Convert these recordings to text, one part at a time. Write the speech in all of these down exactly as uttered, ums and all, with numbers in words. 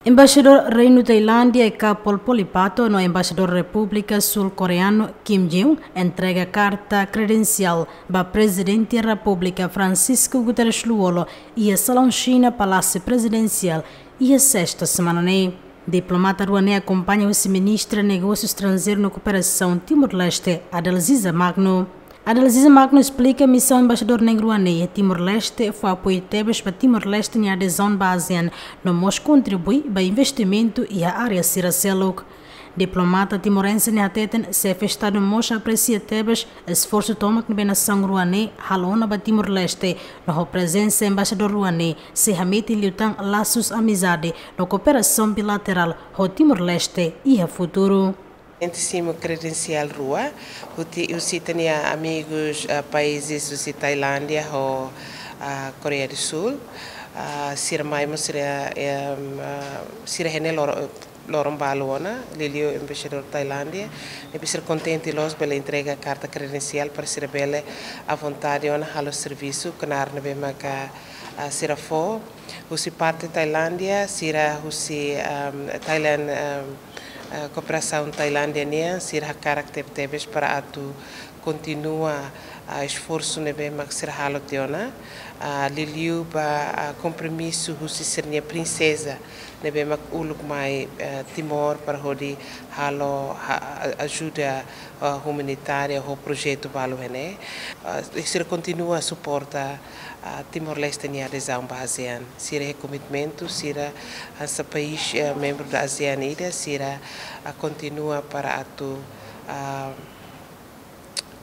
Embaixadór Reinu Tailándia Kapol Polipato no Embaixadór Repúblika Sul Koreanu Kim Jin-un entrega karta kredensiál ba Prezidente Repúblika Francisco Guterres Lú-Olo iha Salaun Xina, Palásiu Prezidensiál, iha sesta semana ne'e. Diplomata rua ne'e akompaña husi Ministra Negósiu Estranjeiru no Kooperasaun Timor-Leste, Adalziza Magno. Adalziza Magno esplika misaun embaixadór na'in rua ne'e iha Timor-Leste fó apoiu tebes ba Timor-Leste nia adezaun ba ASEAN, no mós kontribui ba investimentu iha área sira seluk. Diplomata timorense ne'e hateten, Xefe Estadu mós apresia tebes esforsu tomak ne'ebé nasaun rua ne'e halo ona ba Timor-Leste, no ho prezensa embaixadór rua ne'e sei hametin liután lasus amizade no kooperasaun bilaterál ho Timor-Leste iha futuru. Ente simu kredensiál rua, husi, husi ita-nia amigus, ah, países husi Tailándia ho, ah, Koreia do Sul. Ah, sira mai mós sira, em, ah, sira iha ne'e loro-, loron balu ona, liuliu embaixadór Tailándia. Ne'ebé sira kontente loos bele entrega karta kredensiál para sira bele à vontade ona halo servisu knaar ne'ebé maka, ah, sira fó. Husi parte Tailándia, sira husi, em, Thailand, em, eh, Kooperasaun Tailándia nian, sira hakarak tebetebes para atu kontinua, ah, esforsu ne'ebé mak sira halo tiha ona, ah, liuliu ba, ah, kompromisu husi sira-nia prinseza ne'ebé mak uluk mai, eh, Timor para hodi halo ha-, a-, ajuda, ah, umanitária ho projetu balu iha ne'e. Ah, sira kontinua suporta, ah, Timor-Leste nia adezaun ba ASEAN. Sira iha komitmentu, sira hanesan país, eh, membru da ASEAN ida, sira, ah, kontinua para atu, ah,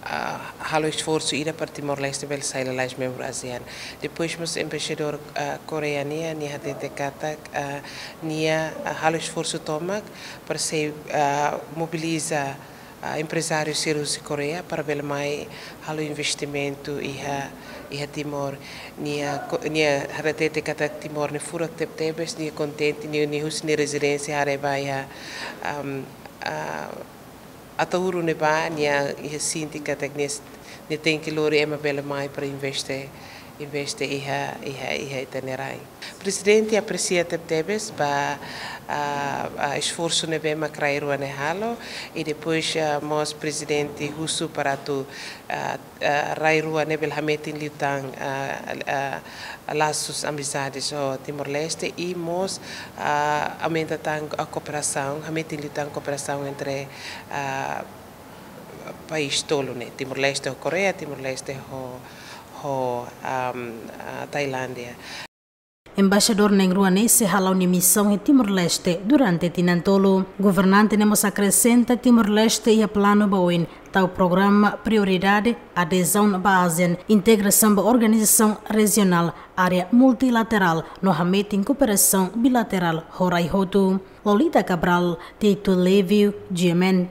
ah, halo esforsu ida para Timor-Leste bele sai lalais membru ASEAN. Depois mós embaixadór, ah, Koreia nian, nia hatete katak, ah, nia, ah, halo esforsu tomak para sei, ah, mobiliza, ah, emprezáriu sira husi Koreia para bele mai halo investimentu iha, iha Timor. Nia ko-, nia hatete katak Timor ne'e furak tebetebes, nia kontente, nia, nia husi nia rezidénsia haree ba iha, am, ah, Ataúru ne'ebá, nia, nia sente katak nia, nia tenke lori ema bele mai para investe, investe iha, iha, iha ita-nia rai. Prezidente apresia tebetebes ba, ah, ah, esforsu ne'ebé mak rai rua ne'e halo, i depois, ah, mós prezidente husu para atu, ah, ah, rai rua ne'e bele hametin liután, ah, ah, lasus amizades ho Timor-Leste i mós, ah, aumenta tan a kooperasaun, hametin liután kooperasaun entre, ah, país tolu ne'e, Timor-Leste ho Koreia, Timor-Leste ho, ho, am, ah, Tailándia. Embaixadór na'in rua ne'e sei hala'o nia misaun iha Timor-Leste durante tinan tolu. Governante ne'e mós akresenta Timor-Leste iha planu ba oin, tau programa prioridade, adezaun ba ASEAN, integrasaun ba organizasaun rejionál, área multilaterál, no hametin kooperasaun bilaterál ho rai hotu. Lolita Cabral, Tito Levio, G M N.